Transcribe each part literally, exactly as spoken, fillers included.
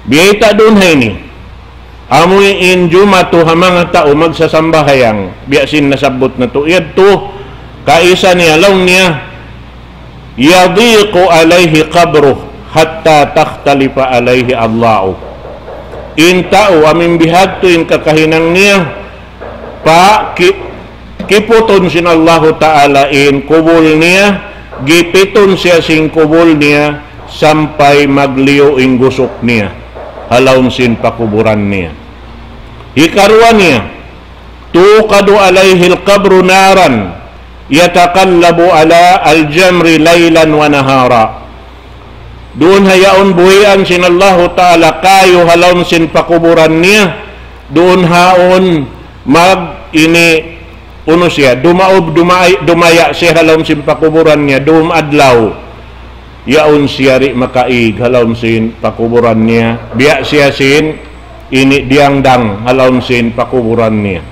Biyayta' duun ha ini. Amuin jumatu ha manga tau magsasambahayang. Biya' sin nasabbut natu' yadtu, kaisa niya laung niya, يضيق عليه قبره حتى تختلف عليه أضلاعه. In tau amuin bihadtu in kakahinang niya, pa ki-, kiputun sin Allahu Ta'ala in kubul niya, gipitun siya sin kubul niya, sampay magliyu in gusuk niya, ha lawm sin pakuburan niya. Hikaruwa niya, توقد عليه القبر نارا يتقلب على الجمر ليلا ونهارا. Duun ha yaun buhian sin Allahu Ta'ala kayu ha lawm sin pakuburan niya, duun ha yaun mag ini unu siya, dumaub, dumay-, dumaya' siya ha lawm sin pakuburan niya, duun adlaw. Yaun siya di' makaig ha lawm sin pakuburan niya. Biya' siya sin ini diyangdang ha lawm sin pakuburan niya.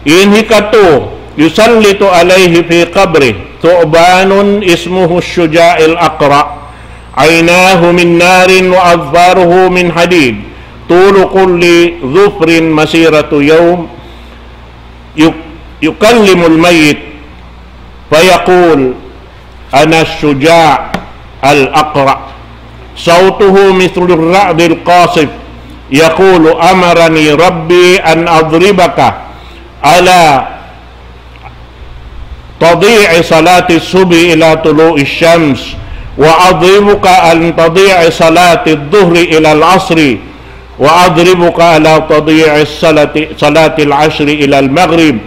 In hikatu, يسلط عليه في قبره ثعبان اسمه الشجاع الأقرع، عيناه من نار وأظفاره من حديد، طول كل ظفر مسيرة يوم، يك-، يكلم الميت فيقول: أنا الشجاع الأقرع، صوته مثل الرعد القاصف، يقول: أمرني ربي أن أضربك على تضييع صلاة الصبح إلى طلوع الشمس، وأضربك أن تضييع صلاة الظهر إلى العصر، وأضربك على تضييع الصلاة، صلاة العصر إلى المغرب،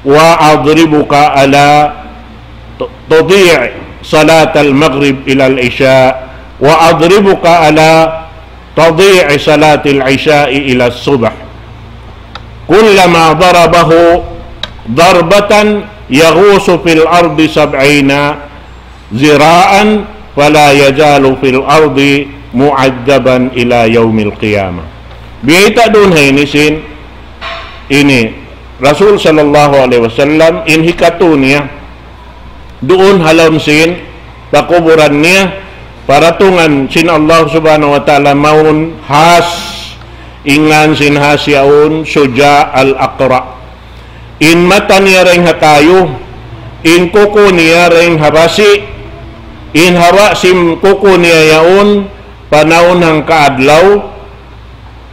وأضربك على ت-، تضييع صلاة المغرب إلى العشاء، وأضربك على تضييع صلاة العشاء إلى الصبح. كلما ضربه ضربة يغوص في الأرض سبعين ذراعا فلا يزال في الأرض معذبا إلى يوم القيامة. Biyayta' duun ha ini sin ini Rasul sallallahu alayhi wasallam, in hikatu niya duun ha lawm sin pakuburan niya, paratungan sin Allah Subhanahu wa Ta'ala mawn has, in ngan sin has yaun Shuja' al-Aqra'. In mata niya dayn ha kayu, in kuku niya dayn ha basi', in haba' sin kuku niya yaun panaun hangka adlaw,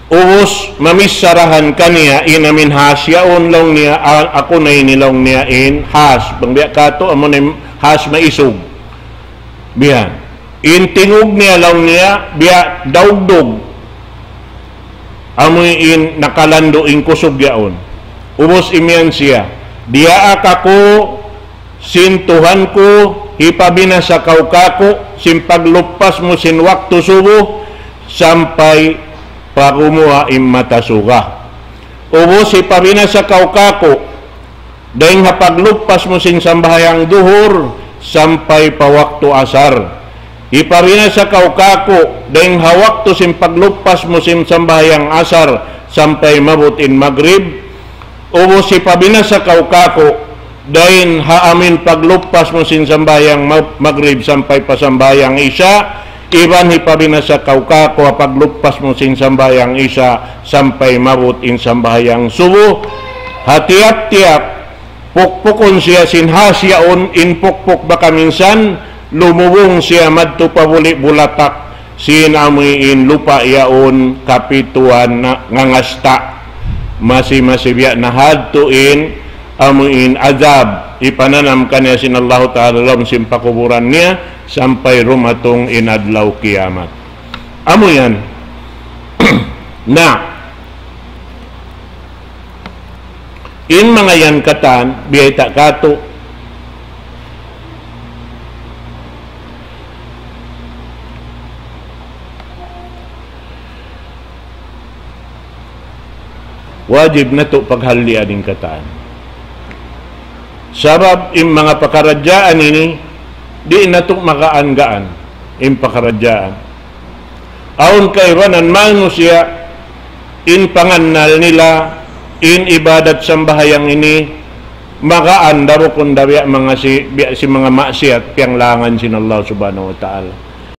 ubus mamissarahan kaniya in amuin has yaun laung niya, a-, aku na ini laung niya in has. Bang biya' katu' amu na in has maisug. Biya'. In tingug niya laung niya, biya' daugdug. Amu in nakalandu' in kusug yaun. Ubus imiyan siya, diyaak aku sin Tuhan ku, hipabinasa kaw kāku', sin pagluppas mu sin waktu subuh, sampay pa gumuwa' in mata suga. Ubus hipabinasa kaw kāku', dayn ha pagluppas mu sin sambahayang duhur, sampay pa waktu asar. Hipabinasa kaw kāku', dayn ha waktu sin pagluppas mu sin sambahayang asar, sampay maabut in magrib. Ubus hipabinasa kaw kāku', dayn ha amuin pagluppas mu sin sambahayang ma-, magrib sampay pa sambahayang isya, iban hipabinasa kaw kāku' ha pagluppas mu sin sambahayang isya sampay maabut in sambahayang subuh. Ha tiyap-tiyap pukpukun siya sin has yaun, in pukpuk baka minsan lumubung siya madtu pa buli' bulatak sin amuin lupa' yaun kapituan na ngangasta'. Masi-masi biya' na hadtu in amuin azab hipananam kaniya sin Allahu Ta'ala lawm sin pakuburan niya sampay dumatung in adlaw kiyamat. Amu yan. Na, in manga yan katan, biyayta' katu', wajib natu' paghallian in katan. Sabab in manga pakaradjaan ini, di' natu' magaan-gaan in pakaradjaan. Awn kaibanan manusiya', in pangannal nila, in ibadat sambahayang ini, magaan da bukun da biya' manga si, biya' sin manga maksiyat, piyanglangan sin Allah Subhanahu wa Ta'ala.